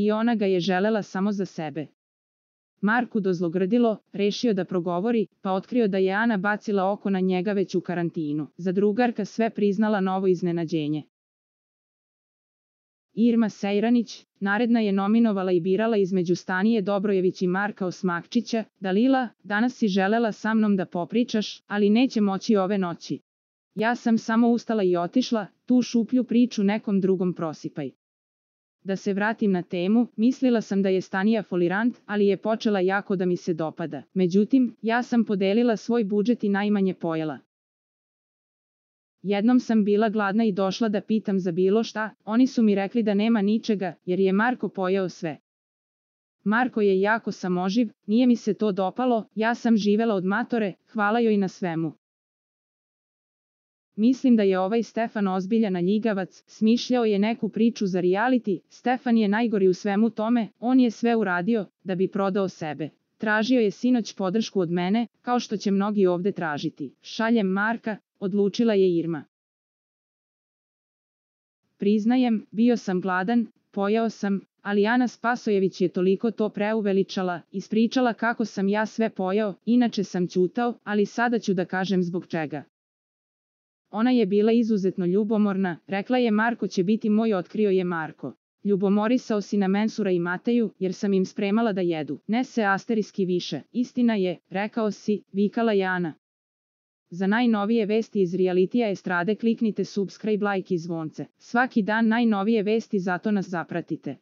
i ona ga je želela samo za sebe. Marku dozlogrdilo, rešio da progovori, pa otkrio da je Ana bacila oko na njega već u karantinu. Za drugarka sve priznala novo iznenađenje. Irma Sejranić, naredna je nominovala i birala između Stanije Dobrojević i Marka Osmakčića. Dalila, danas si želela sa mnom da popričaš, ali neće moći ove noći. Ja sam samo ustala i otišla, tu šuplju priču nekom drugom prosipaj. Da se vratim na temu, mislila sam da je Stanija folirant, ali je počela jako da mi se dopada. Međutim, ja sam podelila svoj budžet i najmanje pojela. Jednom sam bila gladna i došla da pitam za bilo šta, oni su mi rekli da nema ničega, jer je Marko pojeo sve. Marko je jako samoživ, nije mi se to dopalo, ja sam živela od matore, hvala joj na svemu. Mislim da je ovaj Stefan ozbiljan ljigavac, smišljao je neku priču za reality, Stefan je najgori u svemu tome, on je sve uradio, da bi prodao sebe. Tražio je sinoć podršku od mene, kao što će mnogi ovde tražiti. Šaljem Marka, odlučila je Irma. Priznajem, bio sam gladan, pojeo sam, ali Ana Spasojević je toliko to preuveličala, ispričala kako sam ja sve pojeo, inače sam ćutao, ali sada ću da kažem zbog čega. Ona je bila izuzetno ljubomorna, rekla je Marko će biti moj, otkrio je Marko. Ljubomorisao si na Mensura i Mateju, jer sam im spremala da jedu. Ne se asteriski više, istina je, rekao si, vikala je Ana. Za najnovije vesti iz realitija estrade kliknite subscribe, like i zvonce. Svaki dan najnovije vesti, zato nas zapratite.